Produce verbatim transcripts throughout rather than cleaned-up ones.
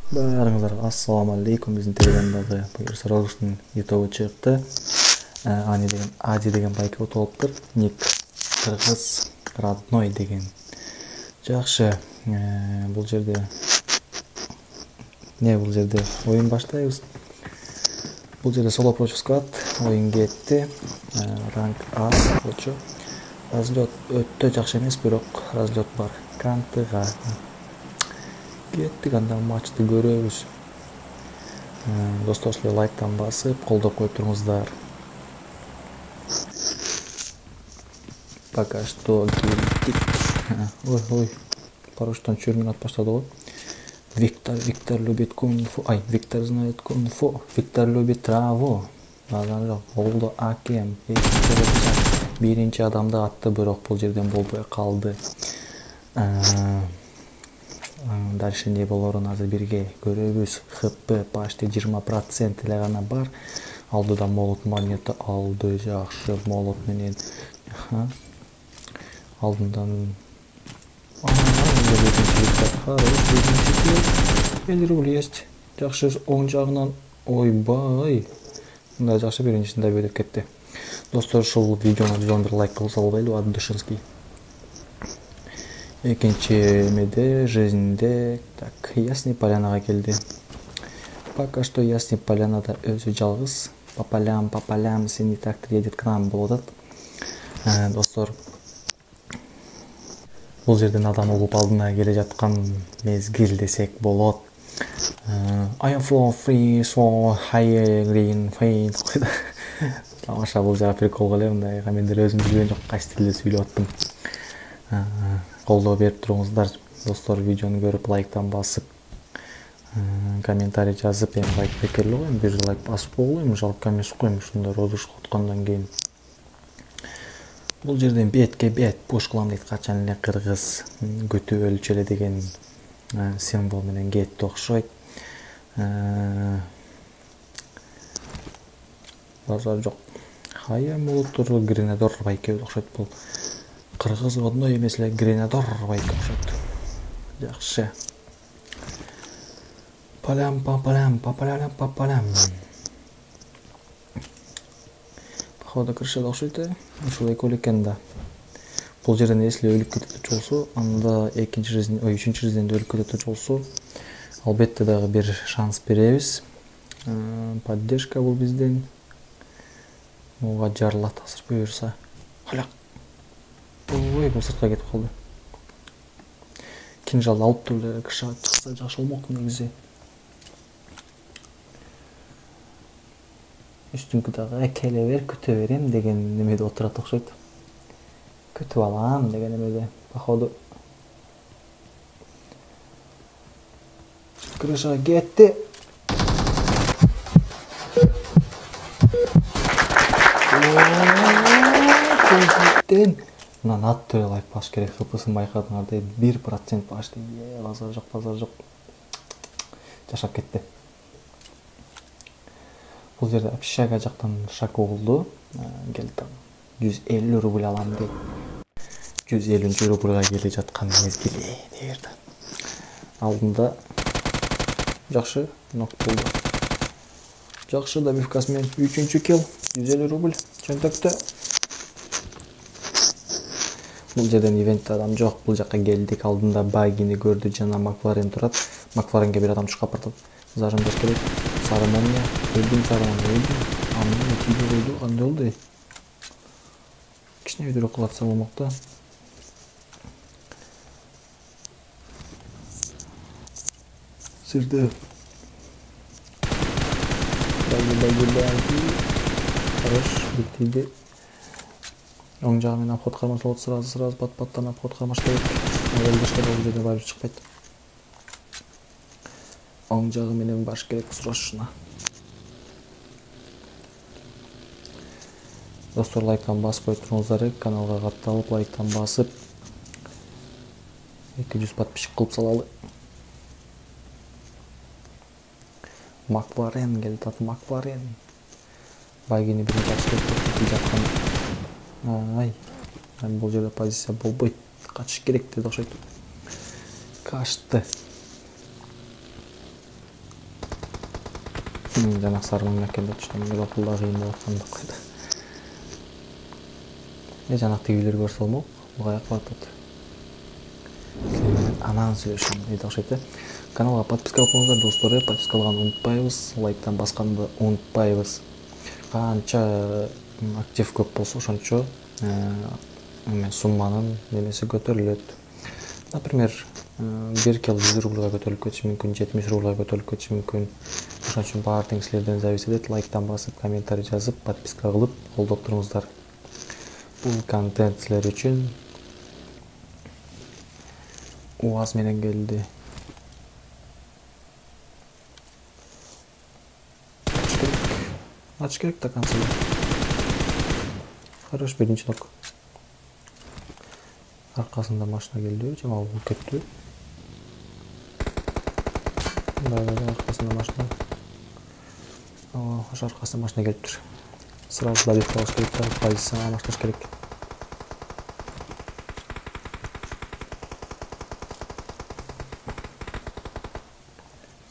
Баарыңыздарга ассаламу алейкум. Биздин телеграмдагы буюрса роликтин ютубу чыкты. Ани деген Ади деген байка отолуптур. Ник кыргыз родной деген. Жакшы. Бул жерде не бул жерде оюн баштайбыз. Бул жерде соло против склад оюн кетти. Ранг А болчу. Разлет өтө жакшы эмес, бирок разлет бар. Кантыга кеттик, анда матчты көрөбүз. Достор, силер лайктан басып, колдоп коюп туруңуздар. Пока что келдик. Ой, ой. Паруштан чүрмүн атып баштады го. Виктор, Виктор любит кунг-фу. Ай, Виктор знает кунг-фу. Виктор любит траву. Базар болду акем. Биринчи адамды атты, бирок бул жерден болбой калды. Дальше не болорун азыр бирге көрөбүз. ХП почти жыйырма процент эле гана бар. Алдыда молот монета алды, жакшы молот менен. Алдындан элүү рубль есть. Жакшы, оң жагынан ойбай. Мындай жакшы биринчисин да бөлүп кетти. Достор, ушул видеону жүз бир лайк кылса болбойлу, ады Душинский. Экинчи эмеде жизньде так Ясный Полянага келди. Пока что Ясный Полянада өзү жалгыз. По полям, по полям, синий трактор едет к нам болот. Достор, бул жерден адам угуп алдына келе жаткан мезгил десек болот. I am for free, so high green fade. Тамаша, бул жака прикол эле, мындай мендер өзүм билген жок, кайсы тилде сүйлөп аттым. Колдоо берип туруңуздар. Достор, видеону көрүп лайктан басып, комментарий жазып, эми лайк бекерлүү го, бир лайк басып койгула, жалко эмес го, ушундай розыгрыш откондон кийин. Бул жерден бетке бет пуш кылам дейт, качан эле кыргыз күтүп өлчү эле деген символ менен кетти окшойт. Базар жок. Хая молоттор гренадор байке окшойт, бул кыргыз родной эмес эле гренадор байке окшойт. Жакшы. Палям папалям папалям папалям. Походу крыша окшойт, ушул экөө экен да. Бул жерден эсли өлүп кетет болсо, анда экинчи жизнь, ой, үчүнчү жизньде өлүп кетет болсо, албетте дагы бир шанс беребиз. Поддержка бул бизден. Муга жарылат азыр буюрса. Халяк. Ой, бул сыртка кетип калды. Кинжал алып туруп эле кыша чыкса жакшы болмок негизи. Үстүңкү дагы келе бер, күтө берем деген немеде отурат окшойт. Күтүп алам деген эмеде. Походу крыша кетти. Мынан ат эле лайк баш керек, хпсын байкадыңар, бир процент почти. Базар жок, базар жок. Жашап кетти. Бул жерде общага жактан шаку болду. Келди. жүз элүү рубль алам дейт. жүз элүүнчү рубльга келе жаткан мезгили дерди. Алдында жакшы нок болду. Жакшы, добивкасы менен үчүнчү килл, жүз элүү рубль чөнтөктө. Бул жерден ивентте адам жок, бул жака келдик. Алдында багини көрдү, жана Макларен турат. Макларенге бир адам чыкап бартат. Зажимдаш керек. Сары молния, өлдүм, сары молния, өлдүм. Аны тийге койду, кандай болду? Кичине өйдөрөк кылатса болмок да. Сирде. Баги-баги-баги. Хорош, битиди. Оң жагы менен обход кармаш болот, сразу-сразу бат-баттан обход кармаш керек. Өлдүшкө бул жерде барып чыкпайт. Оң жагы менен баш керек срочно. Достор, лайктан басып коюп туруңуздар, каналга катталып лайктан басып эки жүз подписчик кылып салалы. Макларен келди, ат Макларен. Багини бир жакшы кетип жаткан. Ай, бул жерде позиция болбойт. Качыш керек деди окшойт. Качты. Жанак сарының экенде түштүм. Мен окулда кыйын болуп аткан деп койду. Э жанак тигилер көрсө болмок. Буга кылып атат. Сен менен анан сүйлөшөм дейт окшойт э. Каналга подписка кылыңыздар достор, подписка кылганды унутпайбыз, лайктан басканды унутпайбыз. Канча актив көп болсо ошончо эме сумманын немеси көтөрүлөт. Например, бир кило жүз рубльга көтөрүлүп кетиши мүмкүн, жетимиш рубльга көтөрүлүп кетиши мүмкүн. Ошон үчүн баардыгы силерден зависит этет. Лайктан басып, комментарий жазып, подписка кылып колдоп туруңуздар. Бул контент силер үчүн УАЗ менен келди. Ач керек да концерт. Хорош, биринчи нок. Аркасында машина келди, жамал болуп кетти. Да, аркасында машина. Оо, ошо аркасында машина келиптир. Сразу да бек калыш керек, позицияны алмаштырыш керек.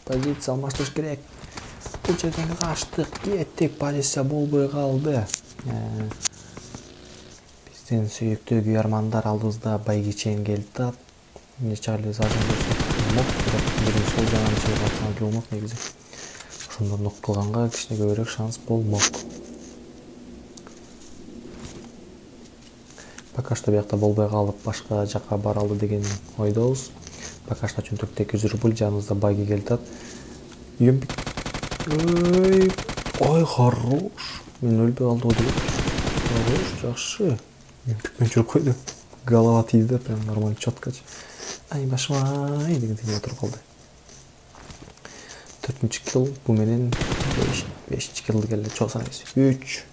Позиция алмаштырыш керек. Бул жерден качтык, кеттик, позиция болбой калды. Биздин сүйүктүү күйөрмандар алдыбызда байгичен келди да. Нече эле задын болмок, бирок сол жагын чыгып атсам болмок негизи. Ошондон нок кылганга кичине көбүрөөк шанс болмок. Пока что биякта болбой калып, башка жака бара алды деген ойдобуз. Пока что чөнтөктө эки жүз рубль, жаныбызда байги келди. Үйөм Ой, ой, хорош. Мен өлбөй калды деп. Хорош, жакшы. Мен түкмөн жүрүп койду. Голова тийди, прям нормально чёткачы. Ай, башмай дегендей отуруп калды. төртүнчү килл, бу менен бешинчи киллди келди. Чоосаңыз. үч,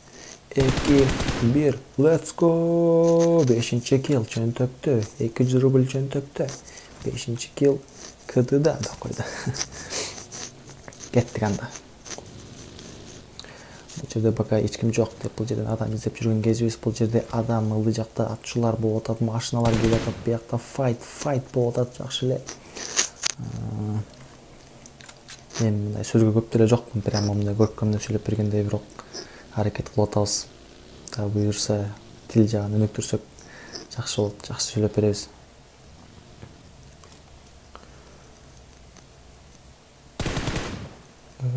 эки, бир. Let's go. бешинчи килл чөнтөктө. эки жүз рубль чөнтөктө. бешинчи килл КДда да койду. Кеттик анда. Бул жерде пока эч ким жок деп, бул жерден адам издеп жүргөн кезибиз. Бул жерде адам ылдый жакта атчылар болуп атат, машиналар келип атат, биякта файт, файт болуп атат, жакшы эле. Мен мындай сөзгө көп деле жокмун, прямо мындай көркөмдөп сүйлөп бергендей бирок аракет кылып атабыз. Та буюрса, тил жагын өнүктүрсөк жакшы болот, жакшы сүйлөп беребиз.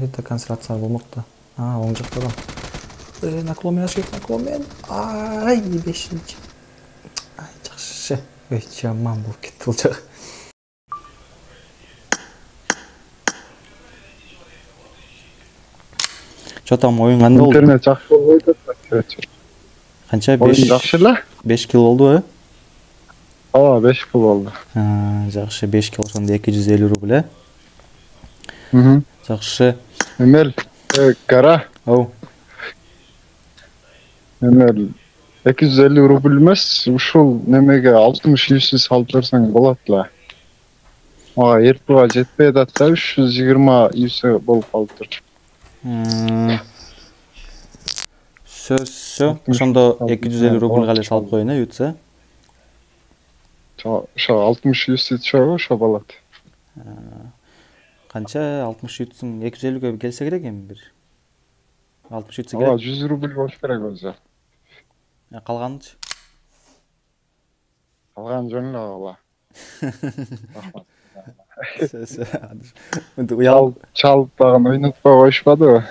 Это концентрация болмок да. А, оң жакта адам. Э, наклон менен керек, наклон менен. Ай, бешинчи. Ай, жакшы. Ой, жаман болуп кетти бул жак. Чо там оюн кандай болду? Интернет жакшы болбойт атат. Канча? беш жакшы эле. беш килл болду, э? Ооба, беш килл болду. А, жакшы, беш килл ошондо эки жүз элүү рубль, э? Мм. Жакшы. Эмел, кара. Оу. Эмел, эки жүз элүү рубль эмес, ушул немеге алтымыш юз салып берсең болот эле. Ага, эртуга жетпей атат да, үч жүз жыйырма юз болуп калыптыр. Сөз, сө. Ошондо эки жүз элүү рубльга эле салып коеюн, э, ютса. Ошо алтымыш юз чогуу ошо болот. Канча алтымыш ютсуң, эки жүз элүүгө келсе керек эми бир. алтымыш ютса керек. Ооба, жүз рубль болуш керек өзү. А калганычы? Калган жөн эле ооба. Рахмат. Мынтип уялып, чалып дагы ойнотпой коюшпадыбы?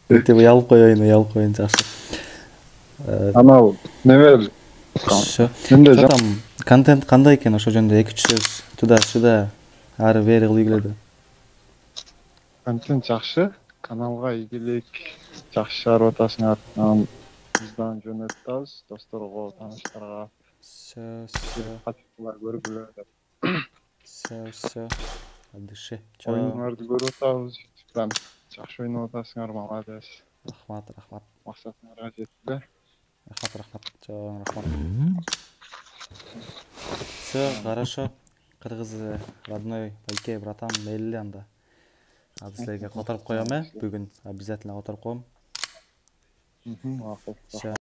мынтип уялып коеюн, уялып коеюн, жакшы. Анау неме? Менде там контент кандай экен, ошо жөнүндө эки үч сөз туда-сюда ары бери кылгылады. Контент жакшы, каналга ийгилик, жакшы чыгарып атасыңар. Анан биздан жөнөтөбүз досторго, тааныштарга. Сөз, катчылар көргүлө деп. Сөз, адышы. Оюңарды көрүп атабыз. Ютубтан жакшы ойноп атасыңар, молодец. Рахмат, рахмат. Максатыңарга жетти. Рахмат, рахмат. Чоң рахмат. Всё, хорошо. Кыргыз родной байке, братан, мейли анда. Азыр силерге которуп коем, э? Бүгүн обязательно которуп коем. Мм, макул.